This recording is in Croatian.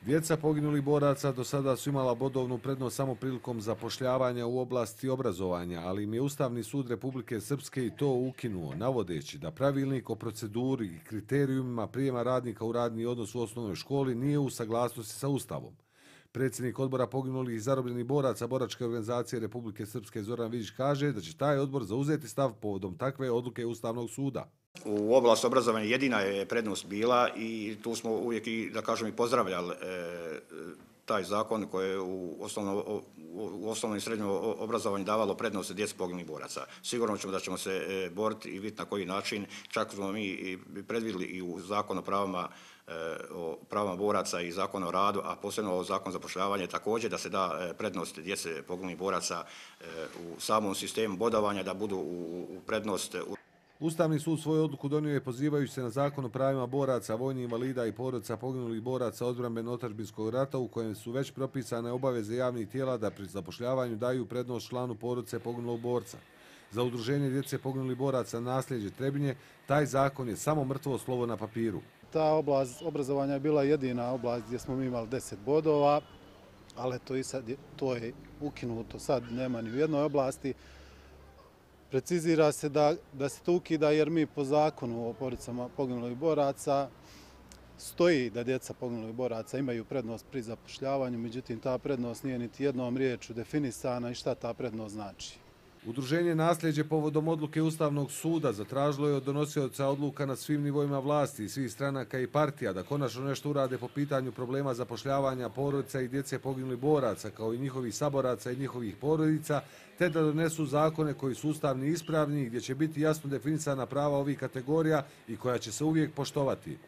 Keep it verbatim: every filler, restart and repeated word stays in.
Djeca poginulih boraca do sada su imala bodovnu prednost samo prilikom zapošljavanja u oblasti obrazovanja, ali im je Ustavni sud Republike Srpske i to ukinuo, navodeći da pravilnik o proceduri i kriterijumima prijema radnika u radni odnos u osnovnoj školi nije u saglasnosti sa Ustavom. Predsjednik odbora poginulih i zarobljenih boraca Boračke organizacije Republike Srpske Zoran Vidić kaže da će taj odbor zauzeti stav povodom takve odluke Ustavnog suda. U oblasti obrazovanja jedina je prednost bila i tu smo uvijek i, da kažem, i pozdravljali e, taj zakon koji je u, osnovno, u osnovnom i srednjem obrazovanju davalo prednost djeci poginulih boraca. Sigurno ćemo da ćemo se e, boriti i vidjeti na koji način. Čak smo mi i predvidjeli i u zakonu o pravima, e, o pravima boraca i zakonu o radu, a posebno o zakonu zapošljavanja također da se da prednost djece poginulih boraca e, u samom sistemu bodovanja, da budu u, u prednost. U Ustavni sud svoju odluku donio je pozivajući se na zakon o pravima boraca, vojnih invalida i porodica poginulih boraca odbrambeno-otadžbinskog rata u kojem su već propisane obaveze javnih tijela da pri zapošljavanju daju prednost članu porodice poginulog borca. Za udruženje djece poginulih boraca Nasljeđe Trebinje taj zakon je samo mrtvo slovo na papiru. Ta oblast obrazovanja je bila jedina oblast gdje smo mi imali deset bodova, ali to, i sad je, to je ukinuto, sad nema ni u jednoj oblasti. Precizira se da, da se to ukida jer mi po zakonu o porodicama poginulih boraca stoji da djeca poginulih boraca imaju prednost pri zapošljavanju, međutim ta prednost nije niti jednom riječju definisana i šta ta prednost znači. Udruženje Nasljeđe povodom odluke Ustavnog suda zatražilo je od donosioca odluka na svim nivoima vlasti i svih stranaka i partija da konačno nešto urade po pitanju problema zapošljavanja porodica i djece poginulih boraca kao i njihovih saboraca i njihovih porodica, te da donesu zakone koji su ustavni i ispravni gdje će biti jasno definisana prava ovih kategorija i koja će se uvijek poštovati.